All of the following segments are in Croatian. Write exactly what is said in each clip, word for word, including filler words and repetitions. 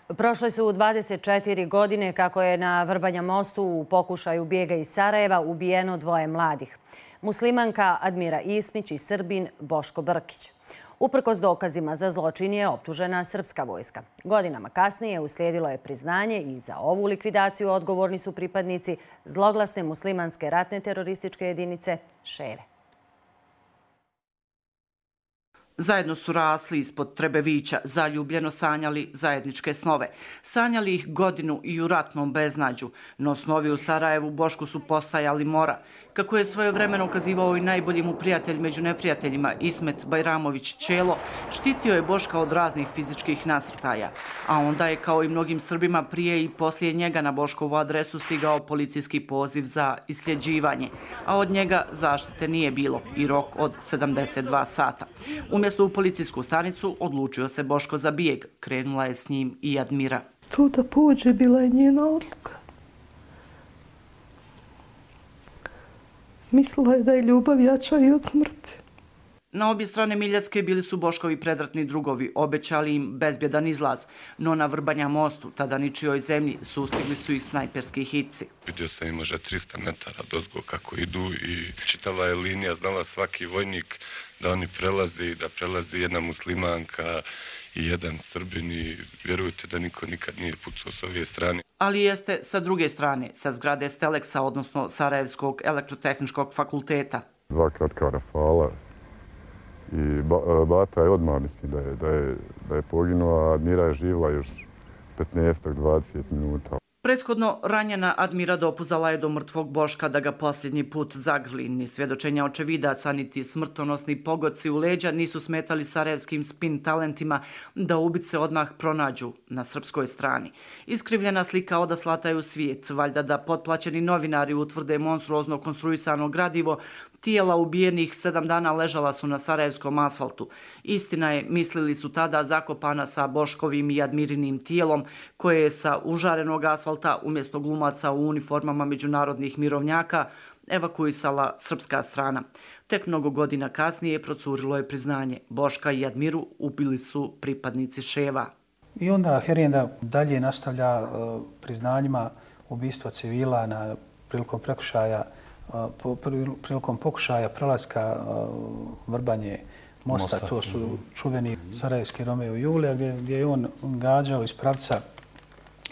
Prošle su dvadeset četiri godine kako je na Vrbanja mostu u pokušaju bijega iz Sarajeva ubijeno dvoje mladih. Muslimanka Admira Ismić i Srbin Boško Brkić. Uprkos dokazima za zločin je optužena srpska vojska. Godinama kasnije uslijedilo je priznanje i za ovu likvidaciju odgovorni su pripadnici zloglasne muslimanske ratne terorističke jedinice Ševe. Zajedno su rasli ispod Trebevića, zaljubljeno sanjali zajedničke snove. Sanjali ih godinu i u ratnom beznađu, no snovi u Sarajevu Bošku su postajali mora. Kako je svojevremeno ukazivao i najbolji mu prijatelj među neprijateljima, Ismet Bajramović Čelo, štitio je Boška od raznih fizičkih nasrtaja. A onda je, kao i mnogim Srbima prije i poslije njega, na Boškovu adresu stigao policijski poziv za isljeđivanje, a od njega zaštite nije bilo i rok od sedamdeset dva sata. Umjesto u policijsku stanicu odlučio se Boško za bijeg. Krenula je s njim i Admira. To da pođe bila je njena odluka. Mislila je da je ljubav jača i od smrti. Na obje strane Miljacke bili su Boškovi predratni drugovi, obećali im bezbjedan izlaz, no na Vrbanja mostu, tada ničijoj zemlji, sustigli su ih snajperski hitci. Vidio sam im možda trista metara dozgo kako idu i čitava je linija, znala svaki vojnik da oni prelazi, da prelazi jedna muslimanka i jedan Srbin i vjerujte da niko nikad nije pucao s ove strane. Ali jeste sa druge strane, sa zgrade Steleksa, odnosno Sarajevskog elektrotehničkog fakulteta. Dva kratka rafala. I Bata je odmah misli da je, da je, da je poginuo, a Admira je živla još petnaest do dvadeset minuta. Prethodno ranjena Admira dopuzala je do mrtvog Boška da ga posljednji put zagrli. Ni svjedočenja očevidaca, niti smrtonosni pogodci u leđa nisu smetali sarajevskim spin talentima da ubice odmah pronađu na srpskoj strani. Iskrivljena slika odaslata je u svijet, valjda da potplaćeni novinari utvrde monstruozno konstruisano gradivo. Tijela ubijenih sedam dana ležala su na sarajevskom asfaltu. Istina je, mislili su tada, zakopana sa Boškovim i Admirinim tijelom, koje je sa užarenog asfalta umjesto glumaca u uniformama međunarodnih mirovnjaka evakuisala srpska strana. Tek mnogo godina kasnije procurilo je priznanje. Boška i Admiru ubili su pripadnici Ševa. I onda Herenda dalje nastavlja uh, priznanjima ubistva civila na prilikom prekršaja prilikom pokušaja prelaska Vrbanje mosta, to su čuveni sarajevski Romeo i Julija, gdje je on gađao iz pravca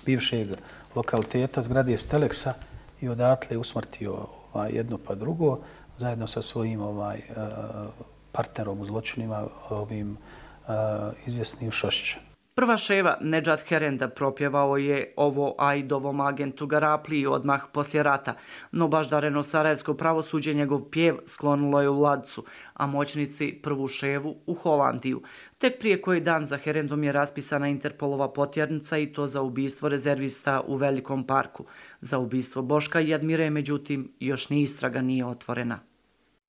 bivšeg lokaliteta zgrade Steleksa i odatle usmrtio jedno pa drugo, zajedno sa svojim partnerom u zločinima, ovim izvjesnim Šošćem. Prva Ševa, Nedžad Herenda, propjevao je ovo Ajdovom agentu Garapliji odmah poslije rata, no baždareno sarajevsko pravosuđe njegov pjev sklonilo je u Ladcu, a moćnici prvu Ševu u Holandiju. Tek prije koji dan za Herendom je raspisana Interpolova potjernica i to za ubistvo rezervista u Velikom parku. Za ubistvo Boška i Admire, međutim, još ni istraga nije otvorena.